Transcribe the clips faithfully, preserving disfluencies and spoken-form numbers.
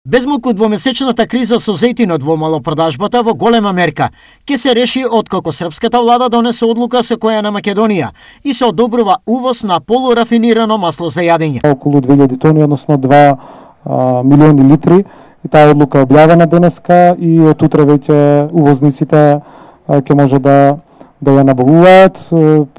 Безмалку двомесечната криза со зејтинот во малопродажбата во голема мерка ќе се реши откако српската влада донесе одлука со која на Македонија и се одобрува увоз на полурафинирано масло за јадење. Околу две илјади тони, односно два а, милиони литри, и таа одлука е објавена денеска и од утре веќе увозниците ќе може да да ја набавуваат.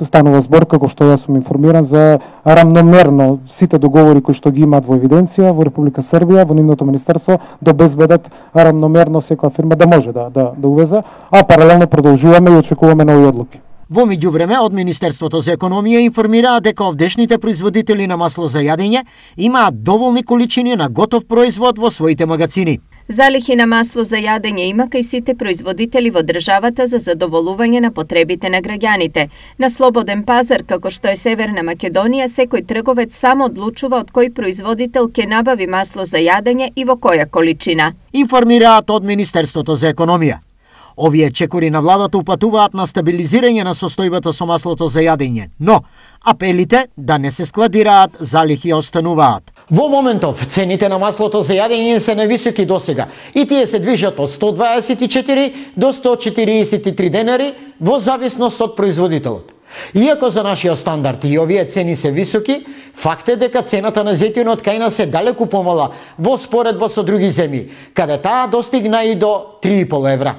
Станува збор, како што јас сум информиран, за рамномерно сите договори кои што ги имаат во евиденција во Република Србија, во нивното министерство, да обезбедат рамномерно секоја фирма да може да да, да увезе, а паралелно продолжуваме и очекуваме нови одлуки. Во меѓувреме, од Министерството за економија информираа дека овдешните производители на масло за јадење имаат доволни количини на готов производ во своите магазини. Залихи на масло за јадење има кај сите производители во државата за задоволување на потребите на граѓаните. На слободен пазар, како што е Северна Македонија, секој трговец само одлучува од кој производител ќе набави масло за јадење и во која количина. Информираат од Министерството за економија. Овие чекори на владата упатуваат на стабилизирање на состојбата со маслото за јадење, но апелите да не се складираат залихи остануваат. Во моментов цените на маслото за јадење се највисоки досега и тие се движат од сто дваесет и четири до сто четириесет и три денари во зависност од производителот. Иако за нашиот стандард и овие цени се високи, факт е дека цената на зејтинот кај нас е далеку помала во споредба со други земји, каде таа достигна и до три и пол евра.